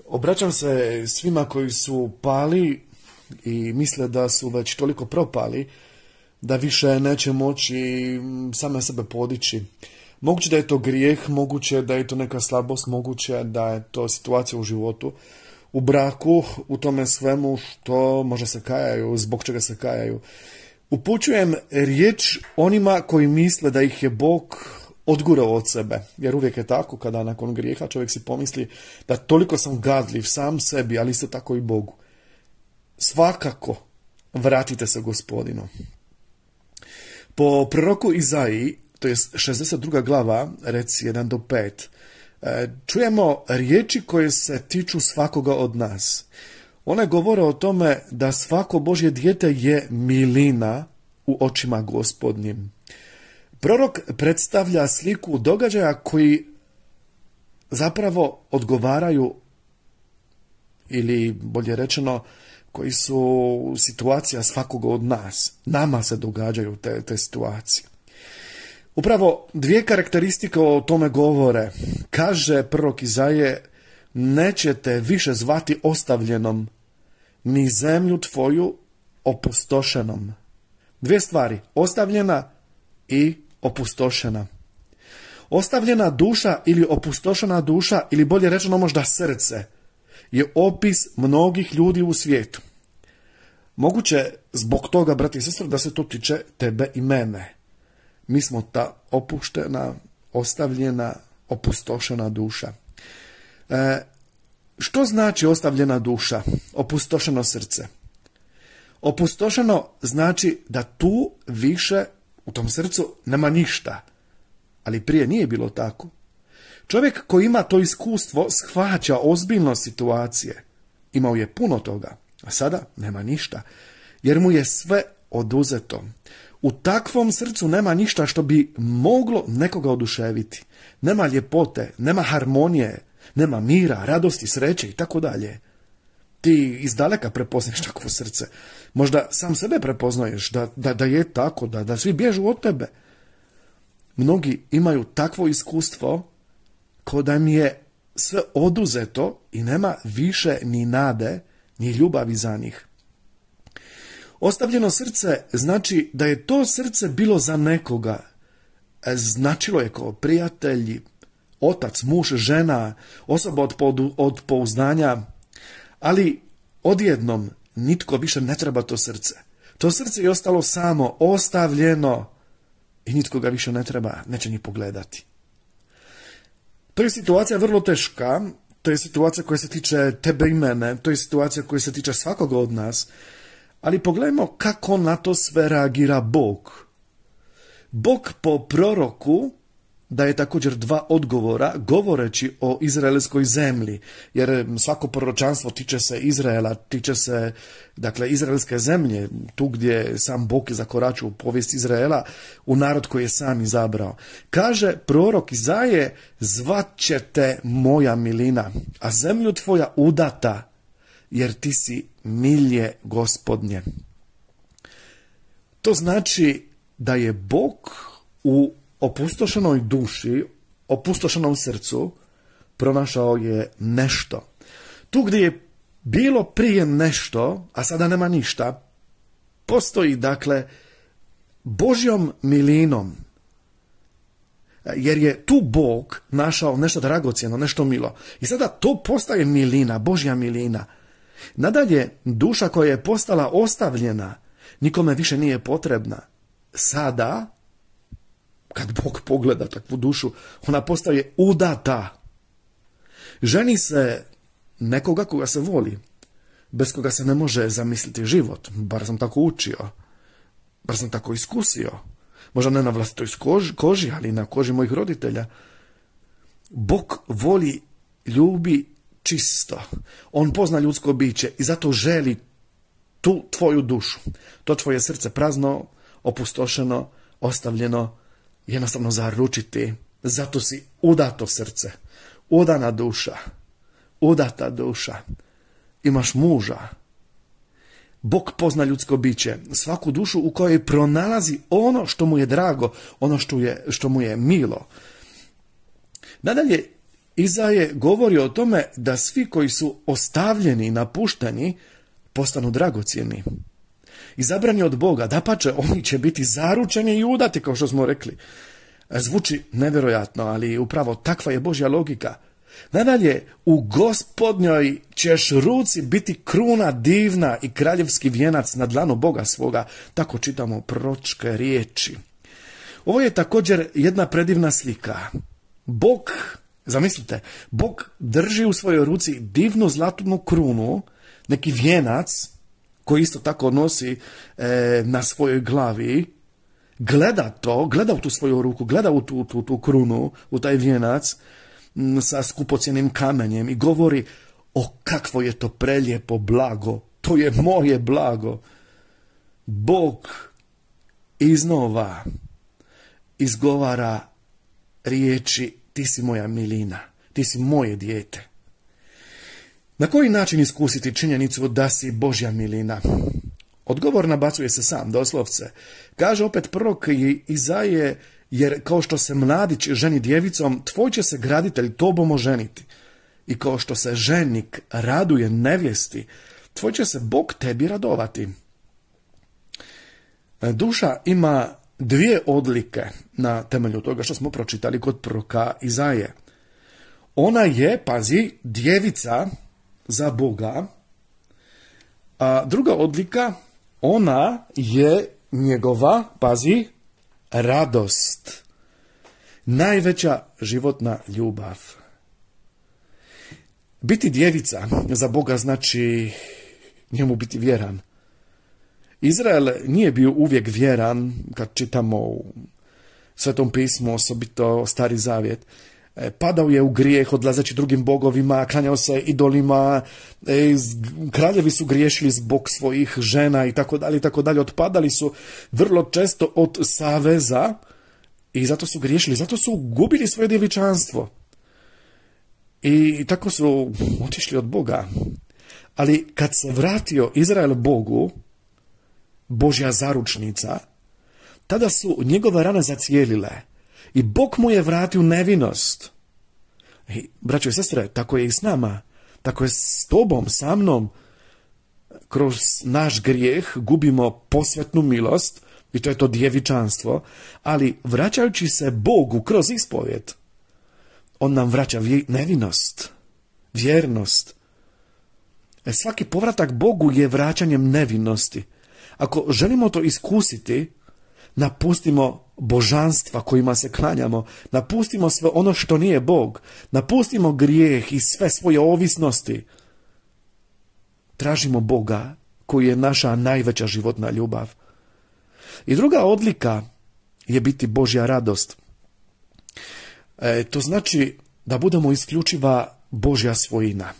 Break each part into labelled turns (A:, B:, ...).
A: Obraćam se svima koji su pali i misle da su već toliko propali da više neće moći same sebe podići. Moguće da je to grijeh, moguće da je to neka slabost, moguće da je to situacija u životu, u braku, u tome svemu što možda se kajaju, zbog čega se kajaju. Upućujem riječ onima koji misle da ih je Bog odgurao od sebe, jer uvijek je tako kada nakon grijeha čovjek si pomisli da toliko sam gadljiv sam sebi, ali isto tako i Bogu. Svakako vratite se Gospodinu. Po proroku Izaiji, to je 62. glava, reci 1 do 5, čujemo riječi koje se tiču svakoga od nas. One govore o tome da svako Božje dijete je milina u očima Gospodnjim. Prorok predstavlja sliku događaja koji zapravo odgovaraju, ili bolje rečeno, koji su situacija svakoga od nas. Nama se događaju te situacije. Upravo dvije karakteristike o tome govore. Kaže prorok Izaije, nećete više zvati ostavljenom, ni zemlju tvoju opustošenom. Dvije stvari, ostavljena i opustošena. Ostavljena duša ili opustošena duša, ili bolje rečeno možda srce, je opis mnogih ljudi u svijetu. Moguće zbog toga, brati i sestre, da se to tiče tebe i mene. Mi smo ta opuštena, ostavljena, opustošena duša. Što znači ostavljena duša, opustošeno srce? Opustošeno znači da tu više u tom srcu nema ništa, ali prije nije bilo tako. Čovjek koji ima to iskustvo shvaća ozbiljno situacije. Imao je puno toga, a sada nema ništa, jer mu je sve oduzeto. U takvom srcu nema ništa što bi moglo nekoga oduševiti. Nema ljepote, nema harmonije, nema mira, radosti, sreće i tako dalje. Ti izdaleka prepoznaš takvo srce. Možda sam sebe prepoznaješ da je tako, da svi bježu od tebe. Mnogi imaju takvo iskustvo kao da im je sve oduzeto i nema više ni nade, ni ljubavi za njih. Ostavljeno srce znači da je to srce bilo za nekoga. Značilo je kao prijatelj, otac, muž, žena, osoba od pouzdanja, ali odjednom nitko više ne treba to srce. To srce je ostalo samo, ostavljeno i nitko ga više ne treba, neće ni pogledati. To je situacija vrlo teška, to je situacija koja se tiče tebe i mene, to je situacija koja se tiče svakoga od nas, ali pogledajmo kako na to sve reagira Bog. Bog po proroku daje također dva odgovora govoreći o izraelskoj zemlji, jer svako proročanstvo tiče se Izraela, tiče se dakle izraelske zemlje, tu gdje sam Bog zakoračio u povijest Izraela, u narod koji je sam izabrao. Kaže prorok Izaije, zvat ćete moja milina, a zemlju tvoja udata, jer ti si milje Gospodnje. To znači da je Bog u opustošenoj duši, opustošenom srcu, pronašao je nešto. Tu gdje je bilo prije nešto, a sada nema ništa, postoji dakle Božjom milinom, jer je tu Bog našao nešto dragocjeno, nešto milo. I sada to postaje milina, Božja milina. Nadalje, duša koja je postala ostavljena, nikome više nije potrebna. Sada, kad Bog pogleda takvu dušu, ona postaje udata. Ženi se nekoga koga se voli, bez koga se ne može zamisliti život. Bar sam tako učio, bar sam tako iskusio. Možda ne na vlastitoj koži, ali na koži mojih roditelja. Bog voli, ljubi čisto. On pozna ljudsko biće i zato želi tu tvoju dušu. To tvoje srce prazno, opustošeno, ostavljeno, jednostavno zaručiti. Zato si udato srce, udana duša, udata duša. Imaš muža. Bog pozna ljudsko biće, svaku dušu u kojoj pronalazi ono što mu je drago, ono što mu je milo. Nadalje, Izaje govori o tome da svi koji su ostavljeni i napušteni postanu dragocjeni. Izabrani od Boga, dapače, oni će biti zaručeni i udati, kao što smo rekli. Zvuči nevjerojatno, ali upravo takva je Božja logika. Nadalje, u Gospodnjoj ćeš ruci biti kruna divna i kraljevski vijenac na dlanu Boga svoga. Tako čitamo proročke riječi. Ovo je također jedna predivna slika. Bog, zamislite, Bog drži u svojoj ruci divnu zlatnu krunu, neki vijenac koji isto tako nosi na svojoj glavi, gleda u tu svoju ruku, gleda u tu krunu, u taj vijenac sa skupocjenim kamenjem i govori: o, kakvo je to prelijepo blago, to je moje blago. Bog iznova izgovara riječi: ti si moja milina, ti si moje dijete. Na koji način iskusiti činjenicu da si Božja milina? Odgovor nabacuje se sam, doslovce. Kaže opet prorok Izaije: jer kao što se mladić ženi djevicom, tvoj će se graditelj tobom oženiti. I kao što se ženik raduje nevjesti, tvoj će se Bog tebi radovati. Duša ima dvije odlike na temelju toga što smo pročitali kod proroka Izaije. Ona je, pazi, djevica za Boga, a druga odlika, ona je njegova, pazi, radost. Najveća životna ljubav. Biti djevica za Boga znači njemu biti vjeran. Izrael nije bio uvijek vjeran, kad čitamo u Svetom pismu, osobito Stari zavjet. Padao je u grijeh, odlazeći drugim bogovima, klanjao se idolima, kraljevi su griješili zbog svojih žena i tako dalje, otpadali su vrlo često od saveza i zato su griješili, zato su gubili svoje djevičanstvo. I tako su otišli od Boga. Ali kad se vratio Izrael Bogu, Božja zaručnica, tada su njegove rane zacijelile i Bog mu je vratio nevinost. I, braćo i sestre, tako je i s nama, tako je s tobom, sa mnom. Kroz naš grijeh gubimo posvetnu milost, i to je to djevičanstvo, ali vraćajući se Bogu kroz ispovjed, on nam vraća nevinost, vjernost. Svaki povratak Bogu je vraćanjem nevinosti. Ako želimo to iskusiti, napustimo božanstva kojima se klanjamo, napustimo sve ono što nije Bog, napustimo grijeh i sve svoje ovisnosti. Tražimo Boga koji je naša najveća životna ljubav. I druga odlika je biti Božja radost. To znači da budemo isključiva Božja svojina.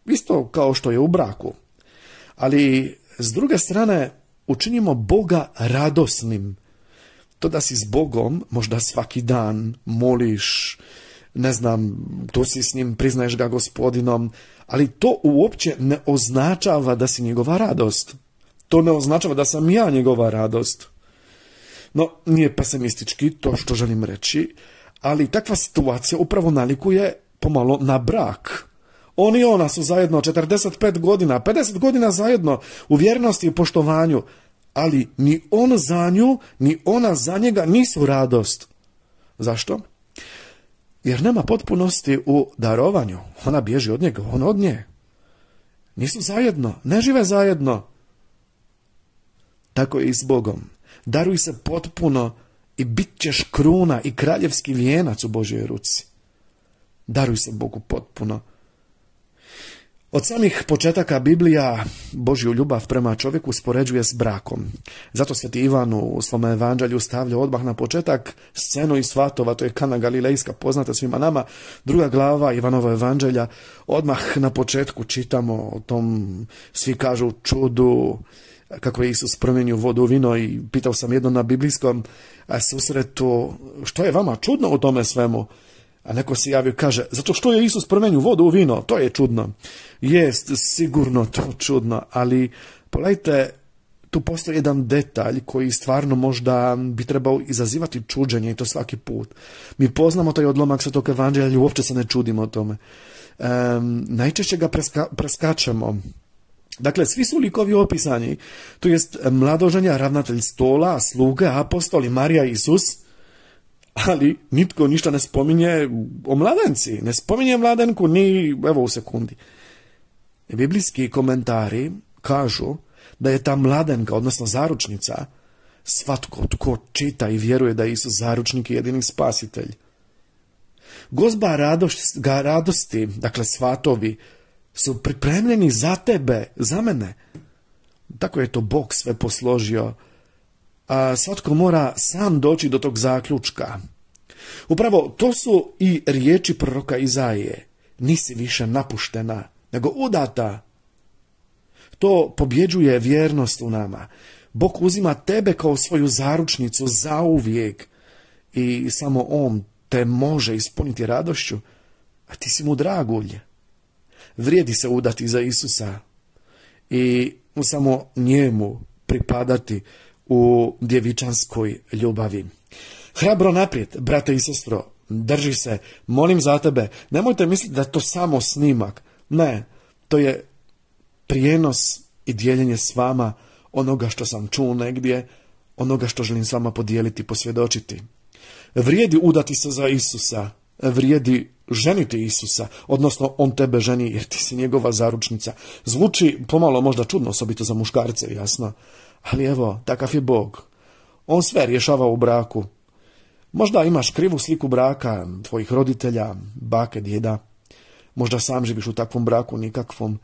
A: Isto kao što je u braku. Ali s druge strane učinimo Boga radosnim. To da si s Bogom možda svaki dan moliš, ne znam, tu si s njim, priznaješ ga Gospodinom, ali to uopće ne označava da si njegova radost. To ne označava da sam ja njegova radost. No, nije pesimistički to što želim reći, ali takva situacija upravo nalikuje pomalo na brak. On i ona su zajedno 45 godina, 50 godina zajedno u vjernosti i poštovanju, ali ni on za nju, ni ona za njega nisu radost. Zašto? Jer nema potpunosti u darovanju. Ona bježi od njega, on od nje. Nisu zajedno, ne žive zajedno. Tako je i s Bogom. Daruj se potpuno i bit ćeš kruna i kraljevski vijenac u Božjoj ruci. Daruj se Bogu potpuno. Od samih početaka Biblija Božju ljubav prema čovjeku uspoređuje s brakom. Zato sveti Ivan u svom evanđelju stavlja odmah na početak scenu iz Svatova, to je Kana Galilejska, poznata svima nama, 2. glava Ivanova evanđelja. Odmah na početku čitamo o tom, svi kažu, čudu, kako je Isus promijenio vodu u vino, i pitao sam jedno na biblijskom susretu, što je vama čudno u tome svemu? A neko se javio, kaže, zato što je Isus promijenio vodu u vino, to je čudno. Jest, sigurno to čudno, ali pogledajte tu postoji jedan detalj koji stvarno možda bi trebao izazivati čuđenje i to svaki put. Mi poznamo taj odlomak Svetog evanđelja i uopće se ne čudimo o tome. Najčešće ga preskačemo. Dakle, svi su likovi opisani, to jest mladoženja, ravnatelj stola, sluge, apostoli, Marija i Isus, ali nitko ništa ne spominje o mladenci, ne spominje mladenku ni evo u sekundi. Biblijski komentari kažu da je ta mladenka, odnosno zaručnica, svatko tko čita i vjeruje da je Isus zaručnik i jedini spasitelj. Gozba radosti, dakle svatovi, su pripremljeni za tebe, za mene. Tako je to Bog sve posložio. A svatko mora sam doći do tog zaključka. Upravo to su i riječi proroka Izaije. Nisi više napuštena, nego udata. To pobjeđuje vjernost u nama. Bog uzima tebe kao svoju zaručnicu zauvijek i samo On te može ispuniti radošću, a ti si mu dragulj. Vrijedi se udati za Isusa i samo njemu pripadati u djevičanskoj ljubavi. Hrabro naprijed, brate i sestro, drži se, molim za tebe, nemojte misliti da je to samo snimak. Ne, to je prijenos i dijeljenje s vama onoga što sam čuo negdje, onoga što želim s vama podijeliti, posvjedočiti. Vrijedi udati se za Isusa, vrijedi ženiti Isusa, odnosno on tebe ženi jer ti si njegova zaručnica. Zvuči pomalo možda čudno, osobito za muškarce, jasno, ali evo, takav je Bog. On sve rješava u braku. Možda imaš krivu sliku braka, tvojih roditelja, bake, djeda. Možda sam živiš u takvom braku nikakvom,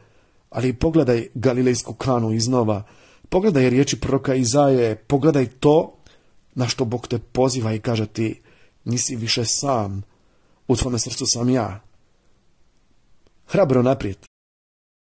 A: ali pogledaj Galilejsku Kanu iznova, pogledaj riječi proroka Izaije, pogledaj to na što Bog te poziva i kaže ti, nisi više sam, u tvome srcu sam ja. Hrabro naprijed,